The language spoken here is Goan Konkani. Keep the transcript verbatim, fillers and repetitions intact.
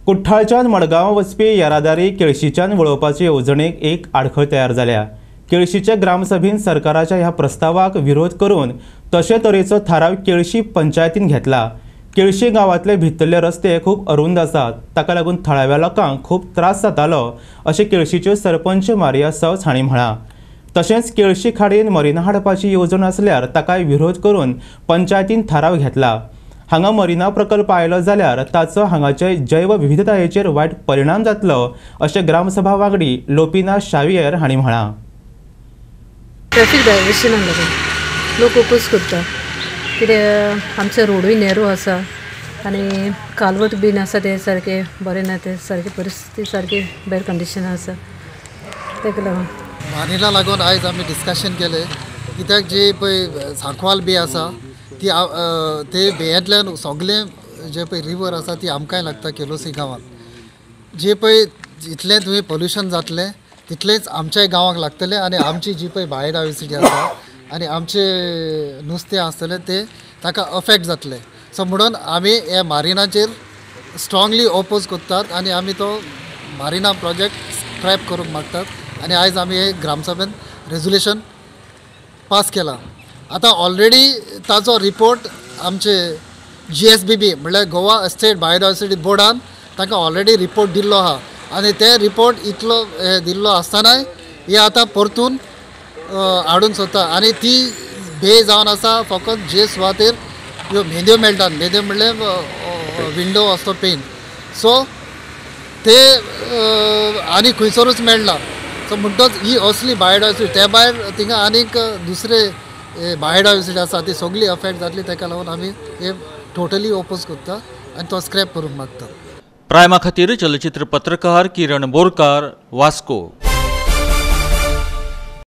कुठ्ठाळच्यान मडगांव वचपी येरादारी केळशीच्यान वळोवपाचे येवजणेक एक आडखळ तयार जाल्या. केळशीच्या ग्रामसभेन सरकाराच्या ह्या प्रस्तावाक विरोध करून तशे तरेचो थाराव केळशी पंचायतीन घेतला. केळशी गांवांतले भितरले रस्ते खूब अरुंद आसात, ताका लागून थळाव्या लोकांक खूब त्रास जातालो अशें केळशीच्यो सरपंच मारिया सवस हांणी म्हळां. तशेंच केळशी खाडीन मरिना हाडपाची येवजण आसल्यार ताकाय विरोध करून पंचायतीन थाराव घेतला. हांगा मरिना प्रकल्प आयलो जाल्यार ताचो हांगाचे जैवविविधतायेचेर वायट परिणाम जातलो अशें ग्रामसभा वांगडी लोपिना शावियर हांणी म्हळां. ट्रॅफिक डायवर्शनाक लागून लोक ओपोज करता कित्याक आमचे रोडूय नॅरो आसा आनी कालवट बीन आसा ते सारके बरें ना, ते सारकी परिस्थिती सारकी बॅड कंडिशन आसा ताका लागून मारिना लागून आयज आमी डिस्कशन केलें कित्याक जी पळय सांकवाल बी आसा ती ते बेयांतल्यान सगळें जे पळय रिवर आसा ती आमकांय लागता केलोसी गांवांत. जे पळय जितलें तुवें पोल्युशन जातलें तितलेंच आमच्याय गांवाक लागतलें आनी आमची जी पळय बायोडायवर्सिटी आसा आनी आमचे नुस्तें आसतलें तें ताका अफेक्ट जातलें. सो म्हणून आमी हे मारिनाचेर स्ट्रांगली ओपोज करतात आनी आमी तो मारिना प्रोजेक्ट स्क्रॅप करूंक मागतात आनी आयज आमी हे ग्रामसभेन रेजोल्युशन पास केलां. आतां ऑलरेडी ताचो रिपोर्ट आमचे जी एस बी बी म्हणल्यार गोवा स्टेट बायोडायवर्सिटी बोर्डान तांकां ऑलरेडी रिपोर्ट दिल्लो आहा आनी ते रिपोर्ट इतलो दिल्लो आसतनाय हे आतां परतून हाडूंक सोदता आनी ती बे जावन आसा फकत जे सुवातेर ह्यो मेंदयो मेळटात, मेंदयो म्हणल्यार विंडो असो पेन, सो ते आनी खंयसरूच मेळना. सो म्हणटच ही असली बायोडायवर्सिटी ते भायर थिंगा आनीक दुसरे बायोडायवर्सिटी आसा ती सगळी अफेक्ट जातली, ताका लागून आमी हे टोटली ओपोज करता आनी तो स्क्रॅप करूंक मागता. प्रायमा खातीर चलचित्र पत्रकार किरण बोरकार, वास्को.